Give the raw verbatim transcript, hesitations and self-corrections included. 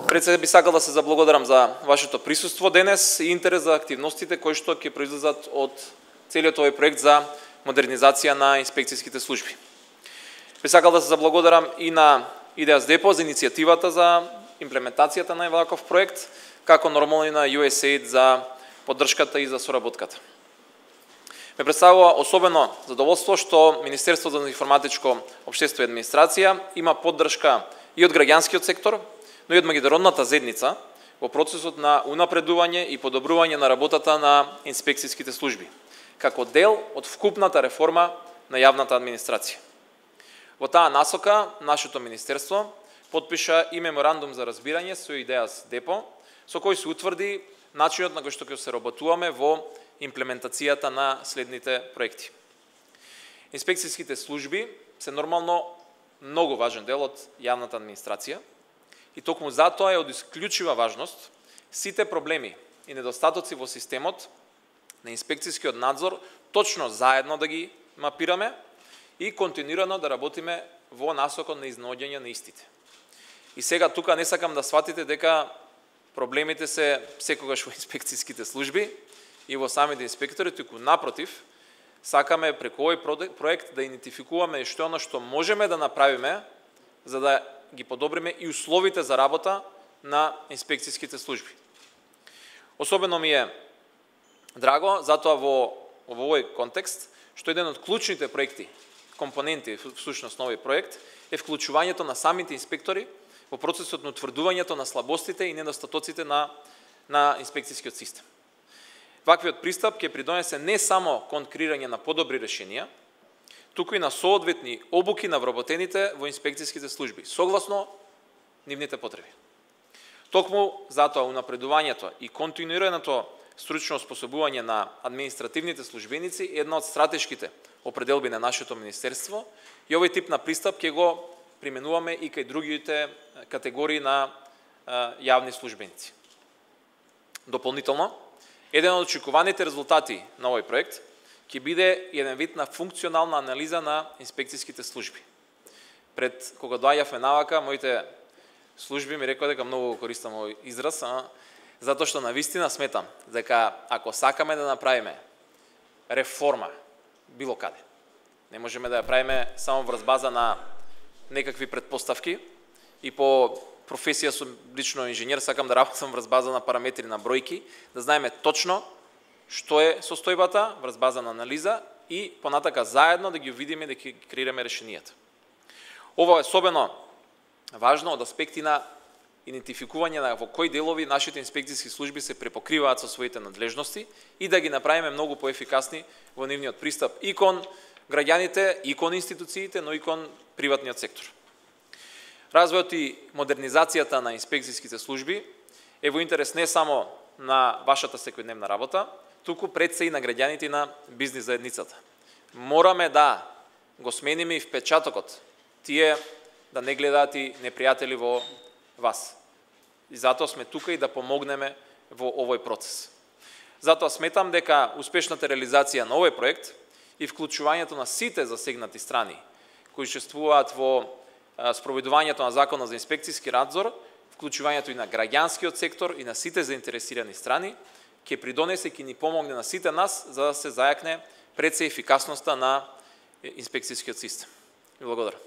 Пред се би сакал да се заблагодарам за вашето присуство денес и интерес за активностите кои што ќе произлезат од целиот овој проект за модернизација на инспекцијските служби. Би сакал да се заблагодарам и на Идеас Депо за иницијативата за имплементацијата на ваков проект, како нормално и на ю ес ей ай ди за поддршката и за соработката. Ме представува особено задоволство што Министерството за информатичко општество и администрација има поддршка и од граѓанскиот сектор, но и од меѓународната заедница во процесот на унапредување и подобрување на работата на инспекцијските служби, како дел од вкупната реформа на јавната администрација. Во таа насока, нашето министерство потпиша и меморандум за разбирање со Идеас Депо, со кој се утврди начинот на кој што ќе се работуваме во имплементацијата на следните проекти. Инспекцијските служби се нормално многу важен дел од јавната администрација и токму затоа е од исклучива важност сите проблеми и недостатоци во системот на инспекцијскиот надзор точно заедно да ги мапираме и континуирано да работиме во насокот на изнаоѓање на истите. И сега тука не сакам да сватите дека проблемите се секогаш во инспекцијските служби и во самите инспектори, туку напротив, сакаме преку овој проект да идентификуваме што е оно што можеме да направиме за да ги подобриме и условите за работа на инспекцијските служби. Особено ми е драго затоа во, во овој контекст што еден од клучните проекти, компоненти всушност на овој проект е вклучувањето на самите инспектори во процесот на утврдувањето на слабостите и недостатоците на на инспекцијскиот систем. Ваквиот пристап ќе придонесе не само кон креирање на подобри решенија, туку и на соодветни обуки на вработените во инспекцијските служби, согласно нивните потреби. Токму затоа унапредувањето и континуираното стручно способување на административните службеници е една од стратешките определби на нашето министерство и овој тип на пристап ќе го применуваме и кај другите категории на јавни службеници. Дополнително, еден од очекуваните резултати на овој проект ќе биде еден вид на функционална анализа на инспекцијските служби. Пред кога доаѓавме навака, моите служби ми рекоа дека многу користам овој израз, а, затоа што навистина сметам дека ако сакаме да направиме реформа било каде, не можеме да ја правиме само врз база на некакви предпоставки и по професија сум лично инженер, сакам да работам врз база на параметри на бројки, да знаеме точно што е состојбата врз база на анализа и понатака заедно да ги видиме, да ги креираме решенијата. Ова е особено важно од аспекти на идентификување на во кои делови нашите инспекцијски служби се препокриваат со своите надлежности и да ги направиме многу поефикасни во нивниот пристап и кон граѓаните, и кон институциите, но и кон приватниот сектор. Развојот и модернизацијата на инспекцијските служби е во интерес не само на вашата секојдневна работа, туку пред се и на граѓаните и на бизнис заедницата. Мораме да го смениме и впечатокот, тие да не гледаат и непријатели во вас. И затоа сме тука и да помогнеме во овој процес. Затоа сметам дека успешната реализација на овој проект и вклучувањето на сите засегнати страни кои учествуваат во спроведувањето на Законот за инспекцијски надзор, вклучувањето и на граѓанскиот сектор и на сите заинтересирани страни, ќе придонесе и ќе ни помогне на сите нас за да се зајакне пред се ефикасноста на инспекцијскиот систем. Благодарам.